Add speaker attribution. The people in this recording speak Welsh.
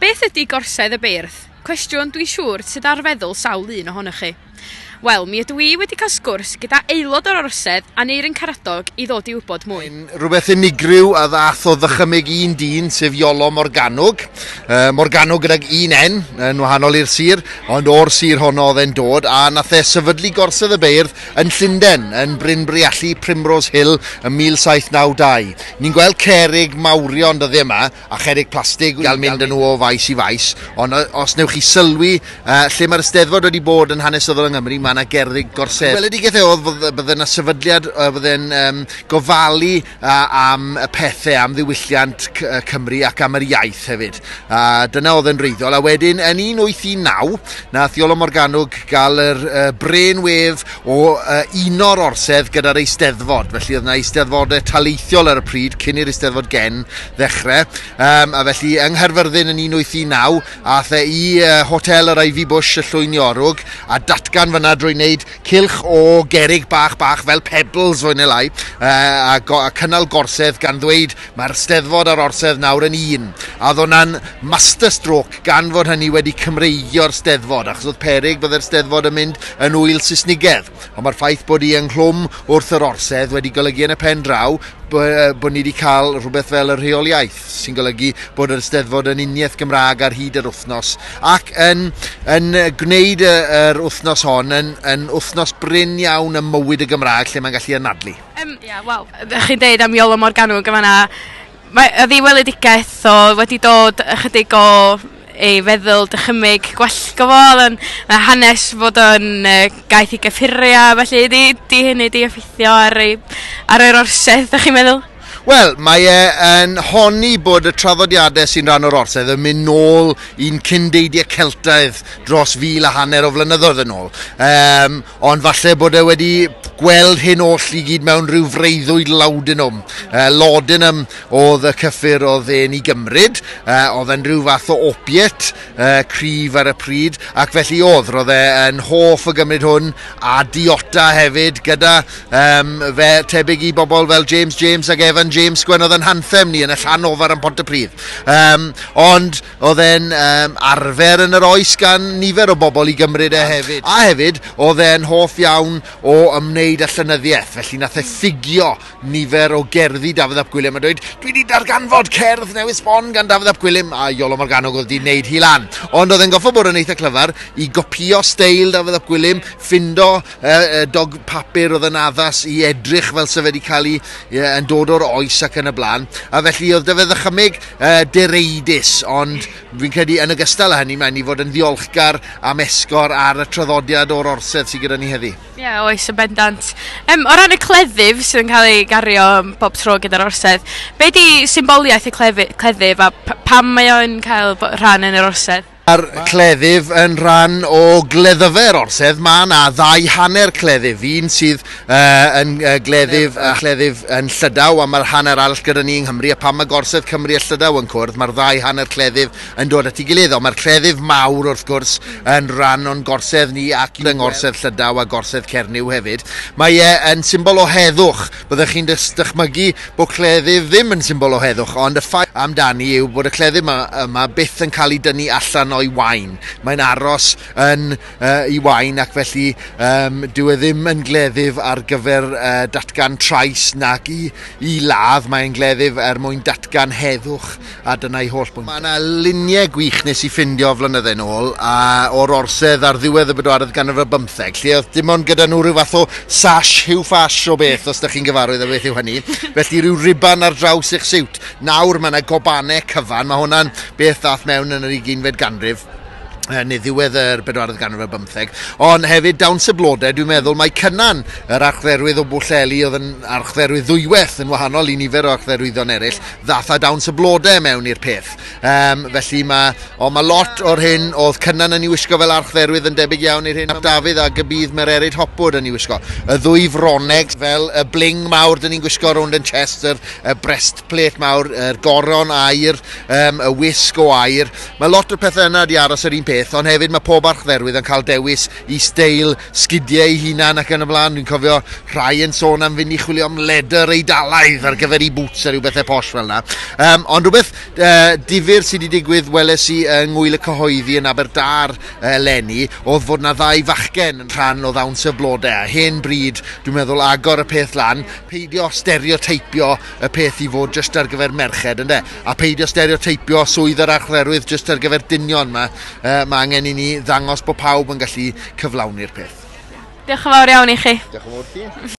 Speaker 1: Beth ydy Gorsedd y Beirdd? Cwestiwn dwi'n siŵr sydd ar feddwl sawl un ohonoch chi. Wel, mi ydw i wedi cael sgwrs gyda aelod o'r Orsedd, Aneurin Karadog, i ddod i wybod mwy.
Speaker 2: Mae'n rhywbeth unigryw a ddath o ddychymyg un dyn, sef Iolo Morganwg. Morgannwg gydag un N, yn wahanol i'r sir, ond o'r sir honno oedd e'n dod, a nath e sefydlu Gorsedd y Beirdd yn Llundain, yn Bryn Briallu, Primrose Hill, ym 1792. Ni'n gweld cerrig mawrion dyddiau yma, a cherrig plastig i gael mynd â nhw o faes i faes, ond os newch chi sylwi lle mae'r Eisteddfod wedi bod yn hanesyddol yng Nghymru, mae yna gerrig gorsedd. Gweledigaeth e oedd bydde yna sefydliad fydde'n gofalu am y pethau, am ddiwylliant Cymru ac am yr iaith hefyd. A dyna oedd yn wreiddiol. A wedyn, yn 1819, nath Iolo Morganwg gael yr brainwave o uno'r orsedd gyda'r Eisteddfod. Felly oedd yna eisteddfodau taleithiol ar y pryd, cyn i'r Eisteddfod Gen ddechrau. A felly yng Nghaerfyrddin yn 1819, ath e i Hotel yr Ivy Bush y Llwyn Iorwg a datgan fyna drwy wneud cylch o gerrig bach bach fel pebbles fwy neu lai, a cynnal gorsedd gan ddweud mae'r Steddfod a'r orsedd nawr yn un. A oedd hwnna'n masterstroke gan fod hynny wedi Cymreigio'r Steddfod, achos oedd peryg byddai'r Steddfod yn mynd yn ŵyl Saesnigedd. Ond mae'r ffaith bod hi ynghlwm wrth yr orsedd wedi golygu yn y pen draw bod ni wedi cael rhywbeth fel y rheoliaeth, sy'n golygu bod yr Eisteddfod yn uniaith Gymraeg ar hyd yr wythnos, ac yn gwneud yr wythnos hon yn wythnos brin iawn ym mywyd y Gymraeg lle mae'n gallu anadlu.
Speaker 1: Ia, wel, ydych chi'n deud am Iolo Morganwg yn fan'na, mae oedd ei weledigaeth o wedi dod ychydig o ei feddwl dychymyg gwallgo fo, oedd o'n hanes fod o'n gaeth i gyffuria, felly di hynny di effeithio ar yr orsedd, ydych chi'n meddwl?
Speaker 2: Wel, mae e yn honni bod y traddodiadau sy'n rhan o'r orsedd yn mynd nôl i'n cyndeidiau Celtaidd dros 1500 o flynyddoedd yn ôl. Ond falle bod e wedi gweld hyn oll i gyd mewn rhyw freuddwyd laudanum. Laudanum oedd y cyffur oedd e'n ei gymryd, oedd e'n rhyw fath o opiate cryf ar y pryd, ac felly oedd, roedd e yn hoff o gymryd hwn, a diota hefyd, gyda fe tebyg i bobl fel James James ac Evan James sgwennodd yn hanthem ni yn y Llanofer yn Pontypridd. Ond oedd e'n arfer yn yr oes gan nifer o bobl i gymryd e hefyd. A hefyd, oedd e'n hoff iawn o ymwneud â llenyddiaeth, felly nath e ffugio nifer o gerddi Dafydd ap Gwilym a dweud, dwi wedi darganfod cerdd newydd sbon gan Dafydd ap Gwilym, a Iolo Morganwg oedd wedi wneud hi lan. Ond oedd e'n goffo bod yn eitha clyfar i gopio steil Dafydd ap Gwilym, ffindo dog papur oedd yn addas i edrych fel se wedi cael ei yn dod o'r oes ac yn y blaen. A felly oedd Dafydd ddychymyg direidus, ond fi'n credu yn ogystal â hynny, mae'n i fod yn ddiolchgar am esgor ar y traddodiad o'r orsedd sydd gyda ni heddi.
Speaker 1: Ie, yeah, oes, yn bendant. O ran y cleddyf sydd yn cael ei gario bob tro gyda'r orsedd, be di symboliaeth y cleddyf a pam mae o'n cael rhan yn yr orsedd?
Speaker 2: Mae'r cleddyf yn rhan o gleddyfau'r orsedd. Mae yna ddau hanner cleddyf, un sydd yn gleddyf a chleddyf yn Llydaw, a mae'r hanner arall gyda ni yng Nghymru, a pan mae gorsedd Cymru a Llydaw yn cwrdd, mae'r ddau hanner cleddyf yn dod at ei gilydd. Ond mae'r cleddyf mawr wrth gwrs yn rhan o'n gorsedd ni ac yng ngorsedd Llydaw a gorsedd Cernyw hefyd. Mae e yn symbol o heddwch. Byddech chi'n dychmygu bod cleddyf ddim yn symbol o heddwch, ond y ffaith amdani yw bod y cleddyf yma byth yn cael ei dynnu allan o'i wain. Mae'n aros yn ei wain, ac felly dyw e ddim yn gleddyf ar gyfer datgan trais nac i ladd. Mae'n gleddyf er mwyn datgan heddwch, a dyna'i holl bwynt. Mae yna luniau gwych nes i ffindio flynydde nôl o'r orsedd ar ddiwedd y bedwaredd ganrif ar bymtheg, lle oedd dim ond gyda nhw rhyw fath o sash, Hugh Fash o beth, os ydych chi'n gyfarwydd â beth yw hynny. Felly rhyw riban ar draws eich siwt. Nawr mae yna gobanau cyfan, mae hwnna'n beth ddath mewn yn yr 20fed ganrif, neu ddiwedd yr bedwaredd ganrif ar bymtheg. Ond hefyd dawns y blodau, dwi'n meddwl mae Cynan, yr archdderwydd o Bwllheli, oedd yn archdderwydd ddwywaith yn wahanol i nifer o archdderwyddon eraill, ddath â dawns y blodau mewn i'r peth. Felly mae lot o'r hyn oedd Cynan yn ei wisgo fel archdderwydd yn debyg iawn i'r hyn ap Dafydd ac y bydd Mererid Hopwood yn ei wisgo. Y ddwy froneg fel y bling mawr dyn ni'n gwisgo rownd yn chest, y breastplate mawr, yr goron aur, y wisg o aur. Mae lot o'r pethau yna wedi aros yr un peth. peth, ond hefyd mae pob archdderwydd yn cael dewis i steil sgidiau ei hunan ac yn y blaen. Dwi'n cofio rhai yn sôn am fynd i chwilio am ledr Eidalaidd ar gyfer i boots a rhyw bethau posh fel yna. Ond rhywbeth difyr sydd wedi digwydd weles i yng Ngŵyl y Cyhoeddi yn Aberdâr eleni oedd fod na ddau fachgen yn rhan o ddawns y blodau. A hen bryd, dwi'n meddwl, agor y peth lan, peidio stereoteipio y peth i fod jyst ar gyfer merched, ynde? A peidio stereoteipio swydd yr archdderwydd jyst ar gyfer dynion. Mae angen i ni ddangos bod pawb yn gallu cyflawni'r peth.
Speaker 1: Diolch yn fawr iawn i chi.
Speaker 2: Diolch yn fawr ti.